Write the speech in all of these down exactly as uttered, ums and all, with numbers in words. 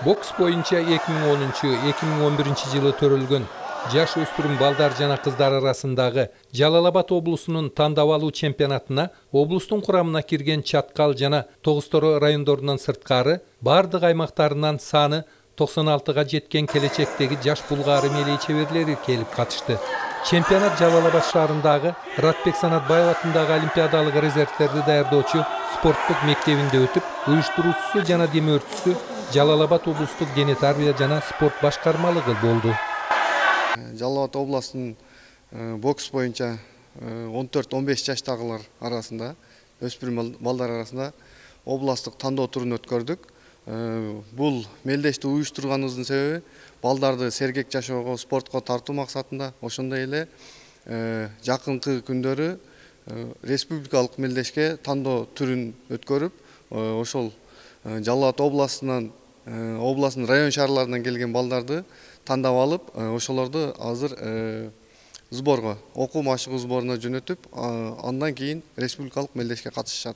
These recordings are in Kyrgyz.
Бокс боюнча эки миң онунчу — эки миң он биринчи жылы төрөлгөн жаш өспүрүм балдар жана кыздар арасындагы Жалал Абад облусунун тандап алуу чемпионатына облустун курамына кирген Чаткал жана Тогуз-Торо райондорунан сырткары бардык аймактарынан саны токсон алтыга жеткен келечектеги жаш булгаары мелий чеберлери келип катышты. Чемпионат Жалал Абад шаарындагы Ратбек Санатбаев атындагы олимпиадалык резервтерди даярдоочу спорттук мектебинде өтүп, уюштуруучусу жана демөөрчүсү Жалал Абад облустук дене тарбия жана спорт башкармалыгы болду. Жалал Абад областынын бокс боюнча он төрт — он беш жаштагылар арасында, өспүрүм балдар арасында областтык тандоо турун өткөрдүк. Бул мелдешти уюштурганыбыздын себеби балдарды сергек жашоого, спортко тартуу максатында, ошондой эле жакынкы күндөрү республикалык мелдешке тандоо түрүн өткөрүп, ошол Жалал Абад областынан областынын район шаарларынан келген балдарды тандап алып, ошолорду азыр сборго, окуу машыгуу сборуна жөнөтүп, андан кийин республикалык мелдешке катышышат.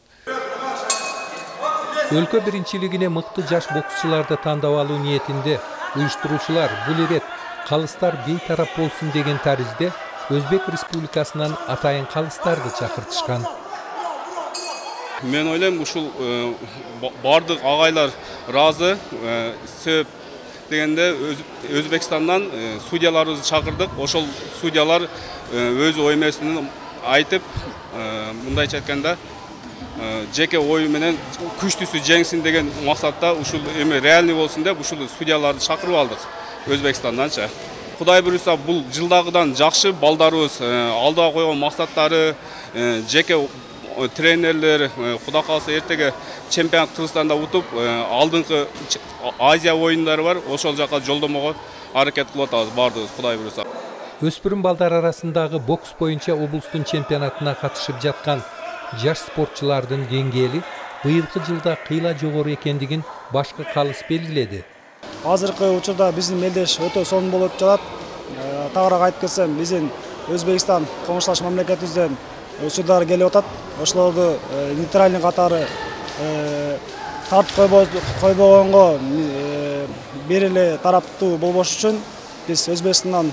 Өлкө биринчилигине мыкты жаш боксчуларды тандап алуу ниетинде уюштуруучулар бул ирет калыстар бейтарап болсун деген таризде Өзбек Республикасынан атайын калыстарды чакыртышкан. Мен ойлойм, ушул бардык агайлар ыраазы. Себеп дегенде Өзбекстандан судьяларыбызды чакырдык. Ошол судьялар өз ой эмесин айтып, мындайча айтканда, жеке ою менен күчтүүсү жеңсин деген максатта ушул эме реальный болсун деп ушул судьяларды чакырып алдык Өзбекстанданчы. Кудай буюрса, бул жылдагыдан жакшы, балдарыбыз алдыга койгон максаттары, жеке тренерлер, кудай кааласа эртеге чемпионат Кыргызстанда утуп, алдыңкы Азия оюндары бар, ошол жака жолдомого аракет кылып атабыз бардыгыбыз, кудай буюрса. Өспүрүм балдар арасындагы бокс боюнча облустун чемпионатына катышып жаткан жаш спортчулардын деңгээли быйылкы жылда кыйла жогору экендигин башкы калыс белгиледи. Азыркы учурда биздин мелдеш өтө сонун болуп жатат. Тагыраак айтып кетсем, биздин Өзбекстан коңшулаш мамлекетибизден судьялар келип атат. Ошолорду нейтральный катары тартып койбогонго бир эле тараптуу болбош үчүн биз Өзбекстандан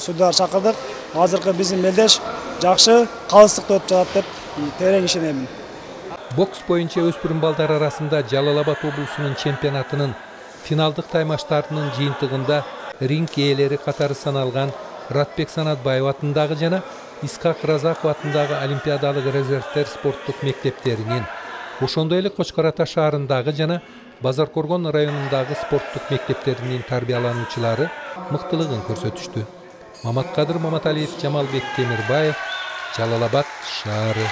судьялар чакырдык. Азыркы биздин мелдеш жакшы, калыстыкта өтүп жатат деп терең ишенемин. Бокс боюнча өспүрүм балдар арасында Жалал Абад облусунун чемпионатынын финалдык таймаштарынын жыйынтыгында ринг ээлери катары саналган Ратбек Санатбаев атындагы жана Исхак Разаков атындагы олимпиадалык резервтер спорттук мектептеринин, ошондой эле Кочкор Ата шаарындагы жана Базаркоргон районундагы спорттук мектептеринин тарбиялануучулары мыктылыгын көрсөтүштү. Маматкадыр Маматалиев, Жамалбек Темирбаев, Жалал Абад шаары.